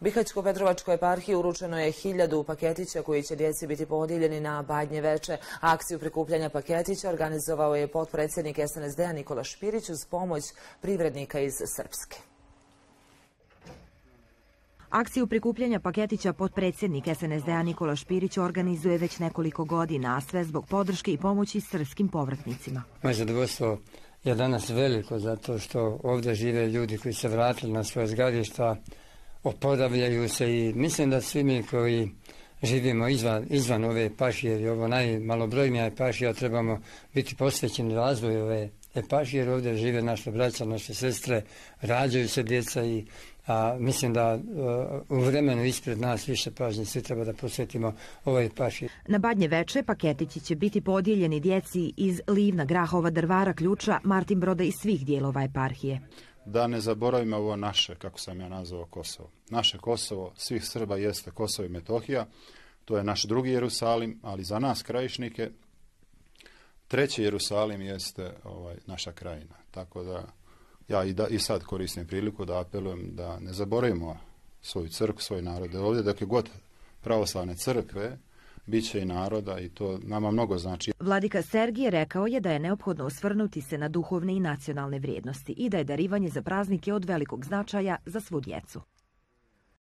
Bihaćko-Petrovačkoj eparhiji uručeno je 1000 paketića koji će djeci biti podijeljeni na Badnje veče. Akciju prikupljanja paketića organizovao je potpredsjednik SNSD-a Nikola Špirić uz pomoć privrednika iz Srpske. Akciju prikupljanja paketića potpredsjednik SNSD-a Nikola Špirić organizuje već nekoliko godina, a sve zbog podrške i pomoći srpskim povratnicima. Moje zadovoljstvo je danas veliko zato što ovdje žive ljudi koji se vratili na svoje zgarišta, oporavljaju se i mislim da svi mi koji živimo izvan ove eparhije, jer ovo najmalobrojnija eparhija, trebamo biti posvećeni razvoju ove eparhije, jer ovdje žive naše braća, naše sestre, rađaju se djeca i mislim da u vremenu ispred nas više pažnje svi treba da posvetimo ovoj eparhiji. Na Badnje veče paketići će biti podijeljeni djeci iz Livna, Grahova, Drvara, Ključa, Martinbroda i svih dijelova eparhije. Da ne zaboravimo ovo naše, kako sam ja nazvao, Kosovo. Naše Kosovo svih Srba jeste Kosovo i Metohija. To je naš drugi Jerusalim, ali za nas krajišnike treći Jerusalim jeste naša krajina. Tako da ja i sad koristim priliku da apelujem da ne zaboravimo svoju crkvu, svoj narod. Ovdje dok je god pravoslavne crkve, bit će i naroda i to nama mnogo znači. Vladika Sergije rekao je da je neophodno osvrnuti se na duhovne i nacionalne vrijednosti i da je darivanje za praznike od velikog značaja za svu djecu.